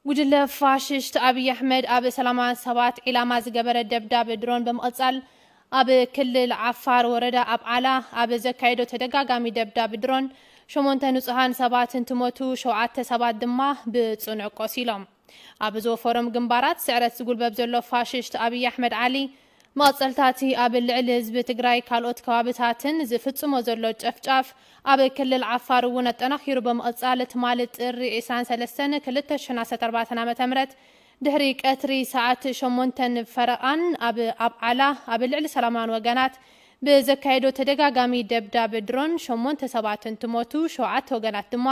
ጉጅለ ፋሽስት ኣብይ ኣሕመድ ኣብ ሰላማውያን ሰባት ዒላማ ዝገበረ ደብዳብ ድሮን ብምቕጻል፣ ኣብ ክልል ዓፋር ወረዳ ኣብዓላ ኣብ ዘካየዶ ተደጋጋሚ ደብዳብ ድሮን፣ ሸሞንተ ንጹሃን ሰባት እንትሞቱ፣ ሸውዓተ ሰባት ድማ ብጽኑዕ ቆሲሎም። ኣብ ዝወፈሮም ግንባራት ስዕረት ዝጉልበብ ዘሎ ፋሽስት ኣብይ ኣሕመድ ዓሊ፣ መቐጸልታቲ ኣብ ልዕሊ ህዝቢ ትግራይ ካልኦት ከባብታትን ዝፍጽሞ ዘሎ ጨፍጫፍ፣ ኣብ ክልል ዓፋር እውን ኣጠናኺሩ ብምቕጻል፣ ትማሊ ጥሪ ዕስራን ሰለስተን ክልተ ሽሕን ዓሰርተ ኣርባዕተን ዓመተ ምህረት ድሕሪ ቀትሪ ሰዓት ሸሞንተን ፈረቓን ኣብ ኣብዓላ ኣብ ልዕሊ ሰላማውያን ወገናት ብዘካየዶ ተደጋጋሚ ደብዳብ ድሮን ሸሞንተ ሰባት እንትሞቱ፣ ሸውዓተ ወገናት ድማ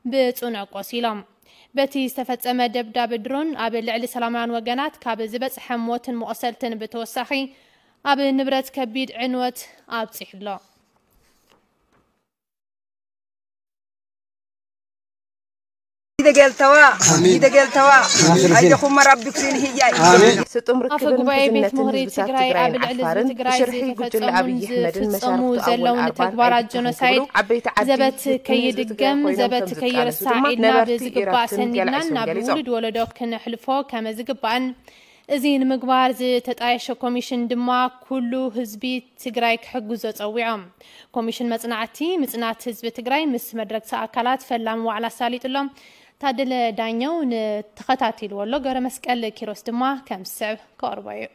ብጽኑዕ ቆሲሎም። በቲ ዝተፈጸመ ደብዳብ ድሮን ኣብ ልዕሊ ሰላማውያን ወገናት ካብ ዝበጽሐ ሞትን መቑሰልትን ብተወሳኺ፣ ኣብ ንብረት ከቢድ ዕንወት ኣብጺሑ ኣሎ። ይደገልተዋ ይደገልተዋ። ኣየኹም መራቢ ኩሲን ህያይ። ስጡም ኣፈ ርክብን ጉባኤ ቤት ምሕዝነትን ምኽሪ ህዝብታት ትግራይ ኣብ ትግራይን ልዕሊ ህዝቢ ዓፋርን ትግራይ ብሽርሒ ጉጅለ ዝተፈጸሙን ኣብይ ኣሕመድን ዝፍጸሙ መሻርክቱ ኣወል ዘለውን ኣርባን ተግባራት ኣይተተኸሉ ጀኖሳይድ ክብሉ ዓበይቲ ዓዲ ዘበት ህዝቢ ከይድገም ኮይኖም ዘበት ከም ዝቃለሱ ከይርሳዕ ድማ ኢልና ነበርቲ ብዝግባእ ኢራትን ሰኒድና ቲኣይሶን ናብ ገሊጾም። ውሉድ ወለዶ ክነሕልፎ ከም ዝግባእን እዚ ንምግባር ዝተጣየሸ ኮሚሽን ድማ ኩሉ ህዝቢ ትግራይ ክሕግዞ ጸዊዖም። ኮሚሽን መጽናዕቲ ምጽናት ህዝቢ ትግራይ ምስ መድረግቲ ኣካላት ፈላሚ ዋዕላ ኣሳሊጡሎም። ታደለ ዳኘው ንተኸታቲልዎ ኣሎ። ገብረ መስቀል ኪሮስ ድማ ከም ዝስዕብ ከቕርቦ እዩ።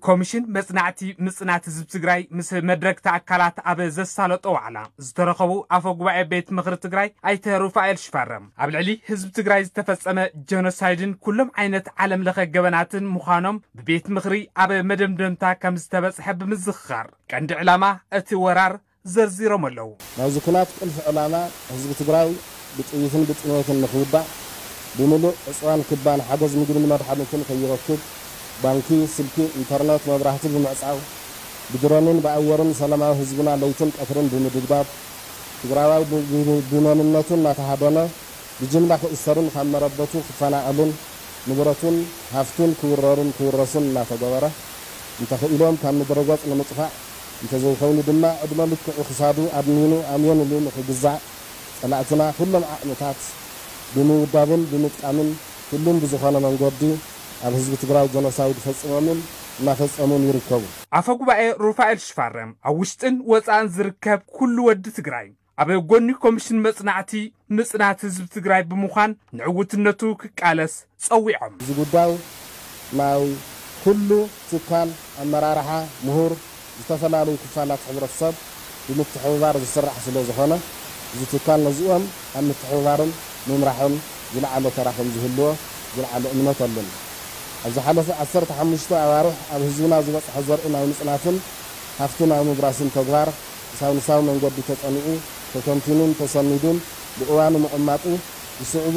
ኮሚሽን መጽናዕቲ ምጽናት ህዝቢ ትግራይ ምስ መድረግቲ ኣካላት ኣብ ዘሳለጦ ዋዕላ ዝተረኸቡ ኣፈ ጉባኤ ቤት ምኽሪ ትግራይ ኣይተ ሩፋኤል ሽፈረም፣ ኣብ ልዕሊ ህዝቢ ትግራይ ዝተፈጸመ ጀኖሳይድን ኩሎም ዓይነት ዓለም ለኸ ገበናትን ምዃኖም ብቤት ምኽሪ ኣብ መደምደምታ ከም ዝተበጽሐ ብምዝኽኻር፣ ቀንዲ ዕላማ እቲ ወራር ዘርዚሮም ኣለዉ። ናይዚ ኩናት ቁልፊ ዕላማ ህዝቢ ትግራይ ብጥይትን ብጥሜትን ንኽውዳእ፣ ብምሉእ ዕፅዋን ክባን ሓገዝ ምግብን መድሓኒትን ከይረክብ፣ ባንኪ፣ ስልኪ፣ ኢንተርነት፣ መብራህቲ ብምዕፃው፣ ብድሮንን ብኣየርን ሰላማዊ ህዝብና ለይትን ቀትርን ብምድብዳብ፣ ትግራዋይ ብ- ብ- ብመንነቱ እናተሃደነ ብጅምላ ክእሰርን ካብ መረበቱ ክፈናቐልን ንብረቱን ሃፍቱን ክውረርን ክውረስን እናተገበረ፣ እንተኽኢሎም ካብ ምድረ ገፅ ንምጥፋእ፣ እንተዘይኮይኑ ድማ ዕድመ ልክዑ ክሳዱ ኣድኒኑ ኣምዮን ኢሉ ንኽግዛእ ፀላእትና ኩሎም ዓቕምታት ብምውዳብን ብምጥቃምን ኩሉን ብዝኾነ መንገዲ ኣብ ህዝቢ ትግራይ ጀኖሳይድ ፈፂሞምን እናፈፀሙን ይርከቡ። ኣፈ ጉባኤ ሩፋኤል ሽፋረም ኣብ ውሽጥን ወፃእን ዝርከብ ኩሉ ወዲ ትግራይ ኣብ ጎኒ ኮሚሽን መፅናዕቲ ምፅናት ህዝቢ ትግራይ ብምዃን ንዕውትነቱ ክቃለስ ፀዊዖም። እዚ ጉዳይ ናይ ኩሉ ትካል ኣመራርሓ፣ ምሁር፣ ዝተፈላለዩ ክፋላት ሕብረተሰብ ብምትሕብባር ዝስራሕ ስለ ዝኾነ፣ እዚ ትካል ነዚኦም ኣብ ምትሕብባርን ምምራሕን ዝለዓለ ተራ ከም ዝህልዎ ዝለዓለ እምነት ኣለኒ። ኣብ ዝሓለፈ ዓሰርተ ሓሙሽተ ኣዋርሕ ኣብ ህዝብና ዝበፅሐ ዘርኢ ናይ ምፅናትን ሃፍቲ ናይ ምብራስን ተግባር ብሳይንሳዊ መንገዲ ተፀኒዑ፣ ተተንቲኑን ተሰኒዱን ብእዋኑ ምቕማጡ ዝስዕቡ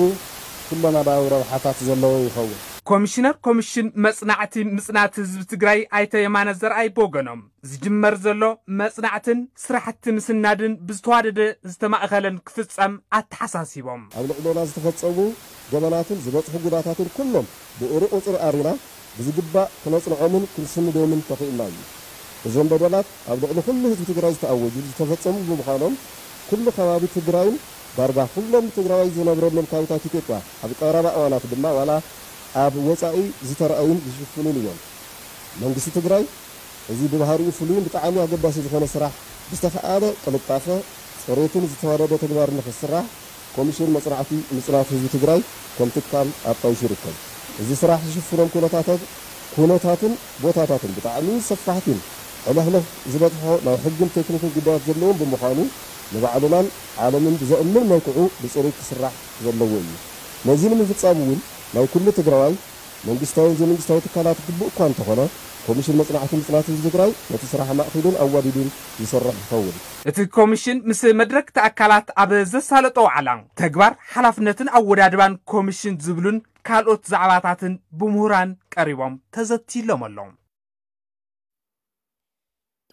ኩለመዳያዊ ረብሓታት ዘለዎ ይኸውን። ኮሚሽነር ኮሚሽን መፅናዕቲ ምፅናት ህዝቢ ትግራይ ኣይተ የማነ ዘርኣይ ብወገኖም፣ ዝጅመር ዘሎ መፅናዕትን ስራሕቲ ምስናድን ብዝተዋደደ ዝተማእኸለን ክፍፀም ኣተሓሳሲቦም። ኣብ ልዕሌና ዝተፈፀሙ ገበናትን ዝበፅሑ ጉዳታትን ኩሎም ብእሩቕ ቁፅሪ ኣሪና ብዝግባእ ክነፅንዖምን ክንስንዶምን ተኽኢልና እዩ። እዞም በደላት ኣብ ልዕሊ ኩሉ ህዝቢ ትግራይ ዝተኣወጁ ዝተፈፀሙ ብምዃኖም ኩሉ ከባቢ ትግራይን ዳርጋ ኩሎም ትግራዋይ ዝነብረሎም ከባብታት ኢትዮጵያ ኣብ ቀረባ እዋናት ድማ ዋላ ኣብ ወፃኢ ዝተረኣዩን ዝሽፍኑን እዮም። መንግስቲ ትግራይ እዚ ብባህሪኡ ፍሉይን ብጣዕሚ ኣገዳሲ ዝኾነ ስራሕ ብዝተኸኣለ ቅልጣፈ፣ ፅሬትን ዝተዋደደ ተግባር ንኽስራሕ ኮሚሽን መፅናዕቲ ምፅናት ህዝቢ ትግራይ ከም ትካል ኣጣይሹ ይርከብ። እዚ ስራሕ ዝሽፍኖም ኩነታታት ኩነታትን ቦታታትን ብጣዕሚ ሰፋሕቲን ሕለፍለፍ ዝበፅሖ ናይ ሕግን ቴክኒክን ጉዳያት ዘለዎም ብምዃኑ ንባዕልናን ዓለምን ብዘእምን መልክዑ ብፅሬት ክስራሕ ዘለዎ እዩ። ነዚ ንምፍፃም እውን ናይ ኩሉ ትግራዋይ መንግስታዊን ዘይመንግስታዊ ትካላት ግቡእ እኳ እንተኾነ፣ ኮሚሽን መፅናዕቲ ምፅናት ህዝቢ ትግራይ ነቲ ስራሕ ኣማእኪሉን ኣዋዲዱን ዝሰርሕ ይኸውን። እቲ ኮሚሽን ምስ መድረክቲ ኣካላት ኣብ ዘሳለጦ ዋዕላ፣ ተግባር፣ ሓላፍነትን ኣወዳድባን ኮሚሽን ዝብሉን ካልኦት ዛዕባታትን ብምሁራን ቀሪቦም ተዘትይሎም ኣሎ።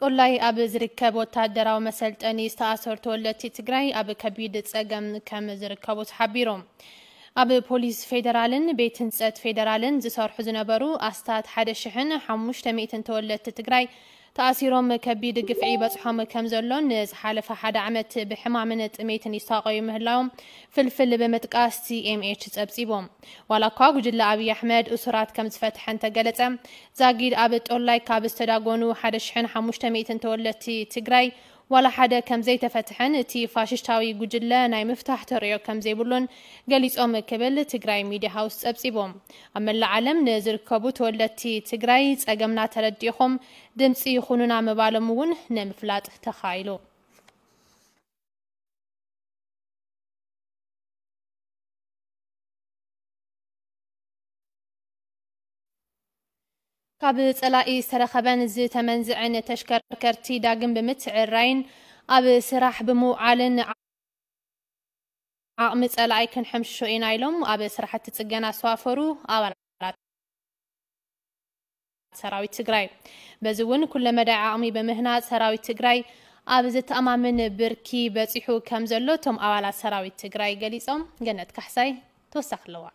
ጦላይ ኣብ ዝርከብ ወታደራዊ መሰልጠኒ ዝተኣሰሩ ተወለድቲ ትግራይ ኣብ ከቢድ ጸገም ከም ዝርከቡ ተሓቢሩ። ኣብ ፖሊስ ፌደራልን ቤት ህንጸት ፌደራልን ዝሰርሑ ዝነበሩ ኣስታት ሓደ ሽሕን ሓሙሽተ ሚእትን ተወለድቲ ትግራይ ተኣሲሮም ከቢድ ግፍዒ ይበጽሖም ከም ዘሎን ንዝሓለፈ ሓደ ዓመት ብሕማምን ጥሜትን ይሳቐዩ ምህላዎም ፍልፍል ብምጥቃስ ቲ ኤም ኤች ጸብጺቦም። ዋላ እኳ ጉጅለ ኣብይ ኣሕመድ እሱራት ከም ዝፈትሐ እንተገለጸ፣ ዛጊድ ኣብ ጦላይ ካብ ዝተዳጎኑ ሓደ ሽሕን ሓሙሽተ ሚእትን ተወለድቲ ትግራይ ዋላ ሓደ ከም ዘይተፈትሐን እቲ ፋሽስታዊ ጉጅለ ናይ ምፍታሕ ተርእዮ ከም ዘይብሉን ገሊጾም ክብል ትግራይ ሚድያ ሃውስ ጸብጺቦም። ኣብ መላእ ዓለም ንዝርከቡ ተወለድቲ ትግራይ ጸገምና ተረዲእኹም ድምጺ ይኹኑና ምባሎም እውን ንምፍላጥ ተኻኢሉ። ካብ ጸላኢ ዝተረኸበን ዝተመንዝዐን ተሽከርከርቲ ዳግም ብምትዕራይን ኣብ ስራሕ ብምውዓልን ዓቕሚ ጸላኢ ክንሕምሽሾ ኢና ኢሎም ኣብ ስራሕቲ ጽገና ዝተዋፈሩ ኣባላት ሰራዊት ትግራይ። በዚ እውን ኩለመዳይ ዓቕሚ ብምህናፅ ሰራዊት ትግራይ ኣብ ዘተኣማምን ብርኪ በፂሑ ከም ዘሎ እቶም ኣባላት ሰራዊት ትግራይ ገሊፆም። ገነት ካሕሳይ ተወሳኺ ኣለዋ።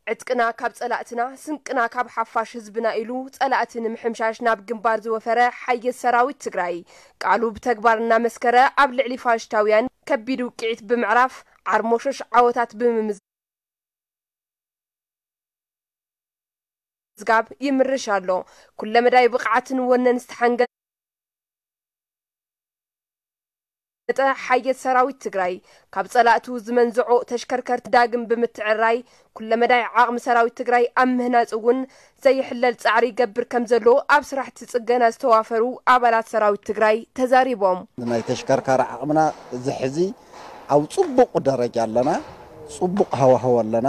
ዕጥቅና ካብ ጸላእትና፣ ስንቅና ካብ ሓፋሽ ህዝብና ኢሉ ጸላእቲ ንምሕምሻሽ ናብ ግንባር ዝወፈረ ሓየት ሰራዊት ትግራይ፣ ቃሉ ብተግባር እናመስከረ ኣብ ልዕሊ ፋሽስታውያን ከቢድ ውቅዒት ብምዕራፍ ዓርሞሾሽ ዓወታት ብምምዝጋብ ይምርሽ ኣሎ። ኩለመዳይ ብቕዓትን ወነን ዝተሓንገጠ ሓየት ሰራዊት ትግራይ፣ ካብ ጸላእቱ ዝመንዝዖ ተሽከርከርቲ ዳግም ብምትዕራይ፣ ኩለመዳይ ዓቕሚ ሰራዊት ትግራይ ኣብ ምህናጽ እውን ዘይሕለል ጻዕሪ ይገብር ከም ዘሎ ኣብ ስራሕቲ ጽገና ዝተዋፈሩ ኣባላት ሰራዊት ትግራይ ተዛሪቦም። ናይ ተሽከርካሪ ዓቕምና እዚ ሕዚ ኣብ ጽቡቕ ደረጃ ኣለና። ጽቡቕ ሃዋህው ኣለና።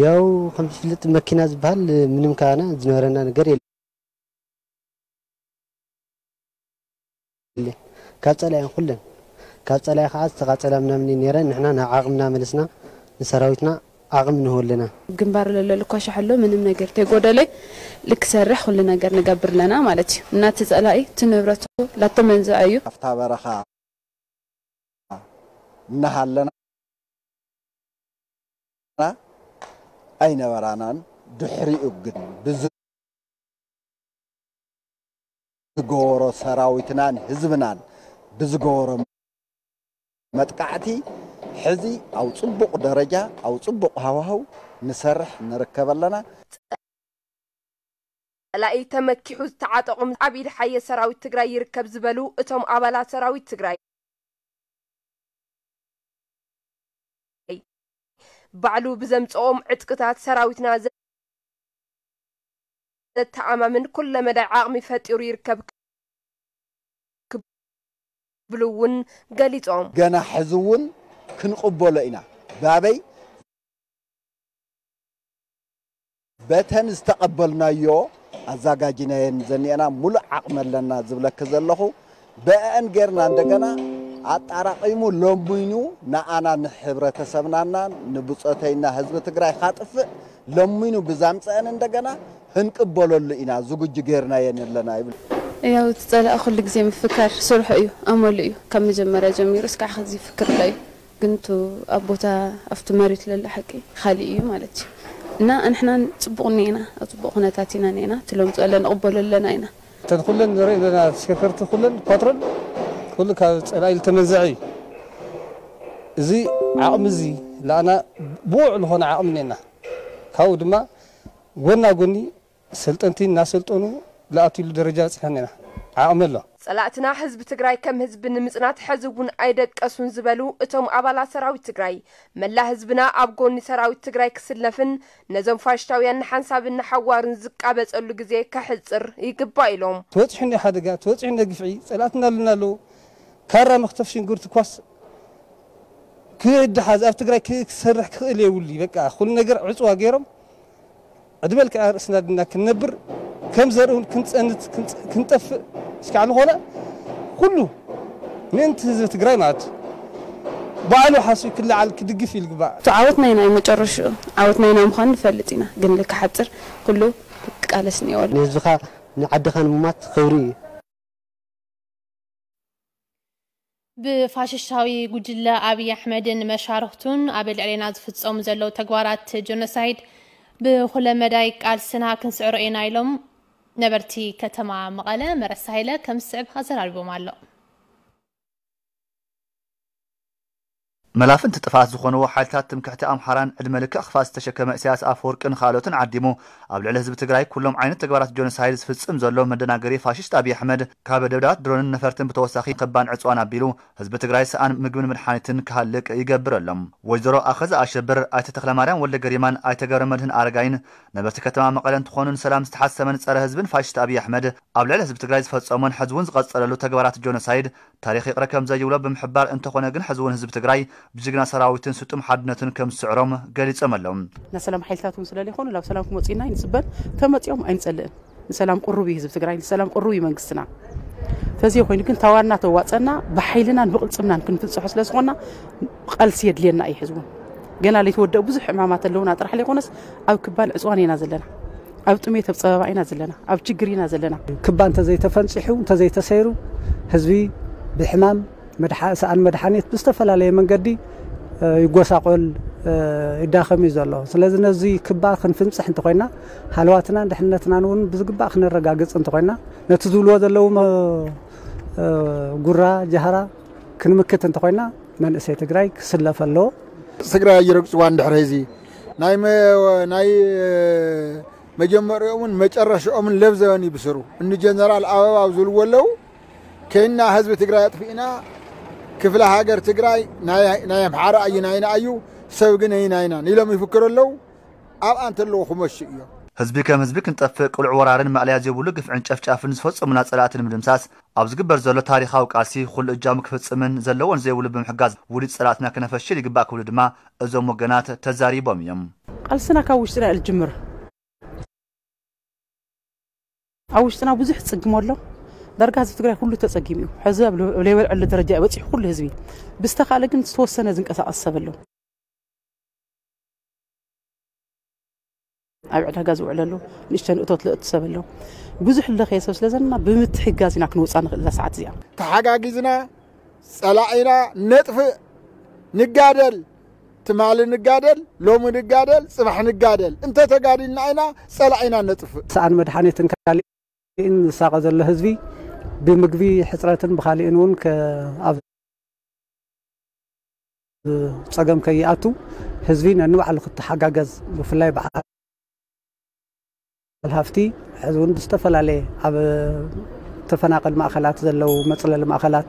ያው ከም ዝፍለጥ መኪና ዝበሃል ምንም ካና ዝነበረና ነገር የለን። ካብ ጸላእያን ኩለን፣ ካብ ጸላኢ ከዓ ዝተቃጸላ ምናምን እዩ ነይረ። ንሕና ናብ ዓቕምና መለስና፣ ንሰራዊትና ዓቕሚ ንህወለና። ግንባር ለሎ ልኳሻሕ ኣሎ፣ ምንም ነገር ተይጎደለ ልክሰርሕ ኩሉ ነገር ንገብር ኣለና ማለት እዩ። እናቲ ጸላኢ እቲ ንብረቱ ላተመንዝዐ እዩ። ኣብታ በረኻ እናሃለና ኣይነበራናን። ድሕሪኡ ግን ብዝገበሮ ሰራዊትናን ህዝብናን ብዝገበሮ መጥቃዕቲ ሕዚ ኣብ ጽቡቕ ደረጃ፣ ኣብ ጽቡቕ ሃዋህው ንሰርሕ ንርከብ ኣለና። ጸላኢ ተመኪሑ ዝተዓጠቑም ኣብ ኢድ ሓየት ሰራዊት ትግራይ ይርከብ ዝበሉ እቶም ኣባላት ሰራዊት ትግራይ፣ ባዕሉ ብዘምጽኦም ዕጥቅታት ሰራዊትና ዘተኣማምን ኩለመዳይ ዓቕሚ ፈጢሩ ይርከብ ክብሉ እውን ገሊጾም። ገና ሕዚ እውን ክንቕበሎ ኢና። ባበይ በተን ዝተቐበልናዮ ኣዛጋጅናየን ዘኒኤና፣ ሙሉእ ዓቕሚ ኣለና ዝብለኪ ዘለኹ። በአን ጌርና እንደገና ኣጣራቒሙ ለሚኑ ንኣና ንሕብረተሰብናና ንብጾተይና ህዝቢ ትግራይ ካጥፍእ ለሚኑ ብዛምፀአን እንደገና ክንቅበለሉ ኢና ዝግጁ ጌርናየን ኣለና ይብል። ያው እቲ ጸላኢ ኩሉ ግዜ ምፍካር ስርሑ እዩ፣ ኣመሉ እዩ። ካብ መጀመርያ ጀሚሩ እስካዕ ሕዚ ይፍክር ኣሎ እዩ። ግን እቱ ኣብ ቦታ ኣብቲ መሬት ለሎ ሓቂ ካሊእ እዩ ማለት እዩ። እና ኣንሕና ጽቡቕ እኒኤና፣ ኣብ ጽቡቕ ኩነታት ኢና እኒኤና። እቲ ለምጽኦ ኣለና ንቕበሎ ኣለና ኢና። እተን ኩለን ንሪኦ ዘለና ተሽከርከርቲ ኩለን ፓትሮል ኩሉ ካብ ጸላኢ ዝተመንዘዐ እዩ። እዚ ዓቕሚ እዚ ለኣና ብቑዕ ዝኾነ ዓቕሚ እኒኤና። ካብኡ ድማ ጎና ጎኒ ሰልጠንቲ እናሰልጠኑ ለኣትሉ ደረጃ በፂሕና ኢና። ዓቕሚ ኣሎ። ጸላእትና ህዝቢ ትግራይ ከም ህዝቢ ንምጽናት ሕዚ እውን ኣይደቀሱን ዝበሉ እቶም ኣባላት ሰራዊት ትግራይ፣ መላ ህዝብና ኣብ ጎኒ ሰራዊት ትግራይ ክስለፍን ነዞም ፋሽስታውያን ንሓንሳብን ንሓዋሩን ዝቃበጸሉ ግዜ ከሕጽር ይግባእ ኢሎም። ተበፂሑ እኒኦ ሓደጋ፣ ተበፂሑ እኒኦ ግፍዒ፣ ጸላእትና ኣለና ኣለዉ። ካራ መኽተፍ ሽንጉርቲ ኳስ ክድሓዝ ኣብ ትግራይ ክሰርሕ ክኽእል የብሉ። በቃ ኩሉ ነገር ዕፅዋ ገይሮም ዕድመ ልክዕ ርእስና ድና ክንነብር ከም ዘርኢ እውን ክንፀንት ክንጠፍእ እስካዕ ዝኾነ ኩሉ ምእንቲ ህዝቢ ትግራይ ማለት ባዕሉ ሓስቢ ክለዓል ክድግፍ እዩ ዝግባእ። እቲ ዓወት ናይና እዩ መጨረሽኡ። ዓወት ናይና ምዃኑ ንፈልጥ ኢና፣ ግን ልክሓፅር ኩሉ ክቃለስ እኒኦ። ንህዝብኻ ንዓድኻ ንምማት ክብሪ እዩ። ብፋሽስታዊ ጉጅለ ኣብይ ኣሕመድን መሻርኽቱን ኣብ ልዕሌና ዝፍጸሙ ዘለዉ ተግባራት ጀኖሳይድ ብኹለ መዳይ ቃልስና ክንስዕሮ ኢና ኢሎም ነበርቲ ከተማ መቐለ። መረሳ ሃይለ ከም ዝስዕብ ኣዘራሪቦም ኣሎ። መላፍንቲ ጥፍኣት ዝኾንዎ ሓይልታት ትምክሕቲ ኣምሓራን ዕድመ ልክዕ ክፍኣት ዝተሸከመ ኢሳያስ ኣፈወርቅን ካልኦትን ዓዲሙ ኣብ ልዕሊ ህዝቢ ትግራይ ኩሎም ዓይነት ተግባራት ጆኖሳይድ ዝፍጽም ዘሎ መደናገሪ ፋሽስት ኣብይ ኣሕመድ ካብ ደብዳባት ድሮንን ነፈርትን ብተወሳኺ ክባን ዕፅዋን ኣቢሉ ህዝቢ ትግራይ ሰኣን ምግብን መድሓኒትን ክሃልቅ ይገብር ኣሎ። ወይዘሮ ኣኸዘ ኣሸብር፣ ኣይተ ተኽለማርያም ወልደ ገሪማን ኣይተ ገብረ መድህን ኣረጋይን ነበርቲ ከተማ መቐለ እንትኾኑ ንሰላም ዝተሓሰመን ጸረ ህዝብን ፋሽስት ኣብይ ኣሕመድ ኣብ ልዕሊ ህዝቢ ትግራይ ዝፈጸሞን ሕዚ እውን ዝቐጸለሉ ተግባራት ጆኖሳይድ ታሪኽ ይቕረ ከም ዘይብሎ ብምሕባር፣ እንተኾነ ግን ሕዚ እውን ህዝቢ ትግራይ ብጅግና ሰራዊትን ስጡም ሓድነትን ከም ዝስዕሮም ገሊጾም ኣለዉ። ናይ ሰላም ሓይልታት እውን ስለለይኾኑ ናብ ሰላም ክመፁ ኢና ንፅበን፣ ተመፂኦም ኣይንፀልእን። ንሰላም ቅሩብ እዩ ህዝቢ ትግራይ፣ ንሰላም ቅሩብ እዩ መንግስትና። ተዘይ ኮይኑ ግን ታዋና ተዋፀና ብሓይልናን ብቅልፅምናን ክንፍፅሖ ስለዝኾና ቃልሲ የድልየና እዩ። ሕዚ እውን ገና ለይተወደኡ ብዙሕ ዕማማት ኣለውና ጥራሕ ለይኮነስ ኣብ ክባን ዕፅዋን ኢና ዘለና። ኣብ ጥሜት ኣብ ፀበባ ኢና ዘለና፣ ኣብ ችግር ኢና ዘለና። ክባ እንተዘይተፈንፂሑ እንተዘይተሰይሩ ህዝቢ ብሕማም ሰኣን መድሓኒት ብዝተፈላለየ መንገዲ ይጎሳቆል ይዳኸም እዩ ዘሎ። ስለዚ ነዚ ክባ ክንፍንፅሕ እንተኮይና ሃለዋትናን ድሕነትናን እውን ብዝግባእ ክነረጋግፅ እንተኮይና ነቲ ዝብልዎ ዘለዉ ጉራ ጃህራ ክንምክት እንተኮይና መንእሰይ ትግራይ ክስለፍ ኣለዎ። ትግራይ ኣይረግፅዋን ድሕሪ እዚ ናይ ናይ መጀመሪኦምን መጨረሽኦምን ለብ ዘበን ይብስሩ። እኒ ጀነራል ኣበባው ዝብልዎ ኣለዉ። ከይና ህዝቢ ትግራይ ኣጥፊእና ክፍለ ሃገር ትግራይ ናይ ኣምሓራ እዩ ናይና እዩ ሰብ ግን ኣይናይናን ኢሎም ይፍክሩ ኣለዉ። ኣብኣ እንተለዉ ክመሹ እዮም። ህዝቢ ከም ህዝቢ ክንጠፍእ ቅሉዕ ወራርን ማእለያ ዘይብሉ ግፍዕን ጨፍጫፍን ዝፈፀሙና ፀላእቲ ንምድምሳስ ኣብ ዝግበር ዘሎ ታሪኻዊ ቃልሲ ኩሉ እጃሙ ክፍፅምን ዘለዎን ዘይብሉ ብምሕጋዝ ውዲት ፀላእትና ክነፈሽል ይግባእ ክብሉ ድማ እዞም ወገናት ተዛሪቦም እዮም። ቃልስና ካብ ውሽጥና እዩ ዝጅምር። ኣብ ውሽጥና ብዙሕ ፅግሞ ኣሎ። ዳርጋ ህዝቢ ትግራይ ኩሉ ተፀጊሙ እዩ። ሕዚ ኣብ ለይበልዐሉ ደረጃ እዩ በፂሑ ኩሉ ህዝቢ። ብዝተኻእለ ግን ዝተወሰነ ዝንቀሳቐስ ሰብ ኣሎ። ኣብ ዕዳጋ ዝውዕለሉ ንእሽተን እቶት ለእቱ ሰብ ኣሎ። ብዙሕ ለኸየ ሰብ ስለ ዘለና ብምትሕጋዝ ኢና ክንወፃ ንኽእል እዛ ሰዓት እዚኣ። ተሓጋጊዝና ጸላኢና ነጥፍእ፣ ንጋደል፣ ትማሊ ንጋደል፣ ሎሚ ንጋደል፣ ጽባሕ ንጋደል። እንተተጋዲልና ኢና ጸላኢና ነጥፍእ። ሰኣን መድሓኒትን ካሊእን ዝሳቐ ዘሎ ህዝቢ ብምግቢ ሕፅረትን ብካሊእን እውን ኣብ ፀገም ከይኣቱ ህዝቢ ነንባዕሉ ክተሓጋገዝ ብፍላይ በዓል ሃፍቲ ሕዚ እውን ብዝተፈላለየ ኣብ ተፈናቐል ማእኸላት ዘለዉ መፅለሊ ማእኸላት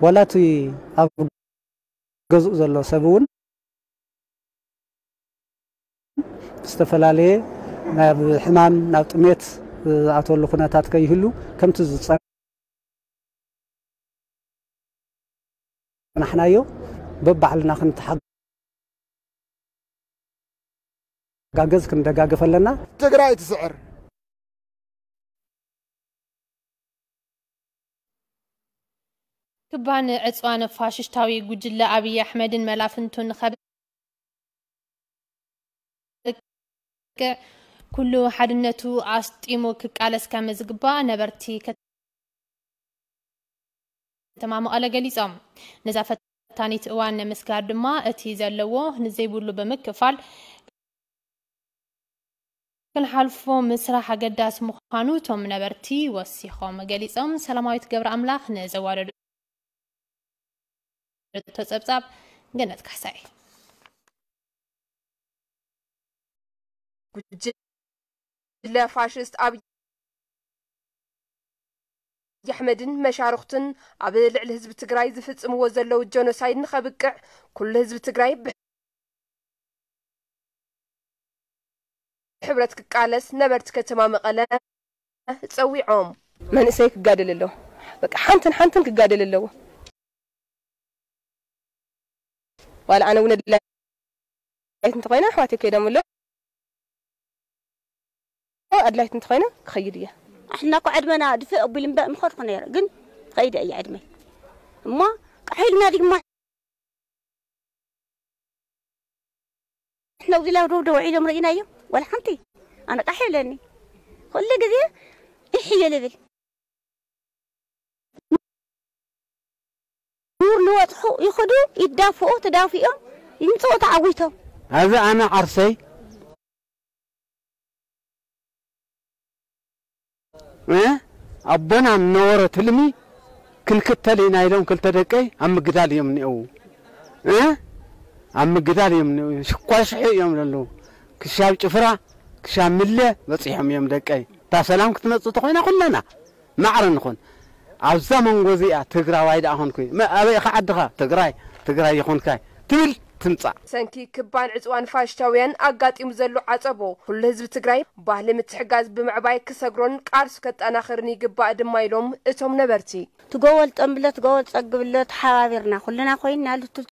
ዋላ እቲ ኣብ ገዝኡ ዘሎ ሰብ እውን ዝተፈላለየ ናብ ሕማም ናብ ጥሜት ዝኣተወሉ ኩነታት ከይህሉ ከምቲ ዝፀናሕናዮ በባዕልና ክንተሓጋገዝ ክንደጋገፍ ኣለና። ትግራይ ትስዕር። ክባን ዕፅዋን ፋሽሽታዊ ጉጅለ ኣብይ ኣሕመድን መላፍንቱን ንኸብቅዕ ኩሉ ሓድነቱ ኣስጢሙ ክቃለስ ከም ዝግባእ ነበርቲ ከተማ መቐለ ገሊፆም። ነዛ ፈታኒት እዋን ንምስጋር ድማ እቲ ዘለዎ ንዘይብሉ ብምክፋል ክንሓልፎ ምስራሕ ኣገዳሲ ምዃኑ እቶም ነበርቲ ወሲኾም ገሊጾም። ሰላማዊት ገብረኣምላኽ ንዘዋደደቶ ጸብጻብ ገነት ካሕሳይ። ጉጅለ ፋሽስት ኣብይ ኣሕመድን መሻርኽቱን ኣብ ልዕሊ ህዝቢ ትግራይ ዝፍጽምዎ ዘለዉ ጀኖሳይድ ንኸብቅዕ ኩሉ ህዝቢ ትግራይ ብሕብረት ክቃለስ ነበርቲ ከተማ መቐለ ጸዊዖም። መንእሰይ ክጋደል ኣለዎ። በቃ ሓንትን ሓንትን ክጋደል ኣለዎ። ዋላ ኣነ እውን ኣድላይት እንተኾይነ ኣሕዋተይ ከይዶም ኣሎ ኣድላይት እንተኾይነ ክኸይድ እየ። ኣሕና እኮ ዕድመና ድፍእ ኣቢሉ እምበር ምኸድኩ ነይረ፣ ግን ኸይደ እየ ዕድመይ። እሞ ቃሕ ኢልና ድግማ ሕነው ዲላ ደው ደው ዒሎም ርኢናዮ፣ ዋላ ሓንቲ ኣነ ቃሕ ይብለኒ። ኩሉ ግዜ ኢሕ እየ ልብል። ይወጥሑ፣ ይኽዱ፣ ይዳፍኡ፣ ተዳፊኦም ይምፅኡ ተዓዊቶም። ኣብዚ ኣነ ዓርሰይ እ ኣቦና ነበረ ትልሚ ክንክተል ኢና ኢሎም ክልተ ደቀይ ኣብ ምግዳል እዮም እኒአው። እ ኣብ ምግዳል እዮም እኒአው። ሽኳሽሑ እዮም ዘለዉ። ክሻብ ጭፍራ ክሻብ ምለ በፂሖም እዮም ደቀይ። እታ ሰላም ክትመፅእ ተኮይና ኩለና ማዕረ ንኹን። ኣብዛ መንጎ እዚኣ ትግራዋይ ደኣ ኮንኩ። መ- ኣበይ ኢኻ ዓድኻ? ትግራይ። ትግራይ ይኹንካይ ትብል ትምፃእ። ሰንኪ ክባን ዕፅዋን ፋሽስታውያን ኣጋጢሙ ዘሎ ዓፀቦ ኩሉ ህዝቢ ትግራይ ባህሊ ምትሕጋዝ ብምዕባይ ክሰግሮን ቃልሱ ከጠናኽርን ይግባእ ድማ ኢሎም እቶም ነበርቲ። ትጎወል ጠንብሎ ትጎወል ፀግብሎ ተሓባቢርና ኩልና ኮይንና ልትል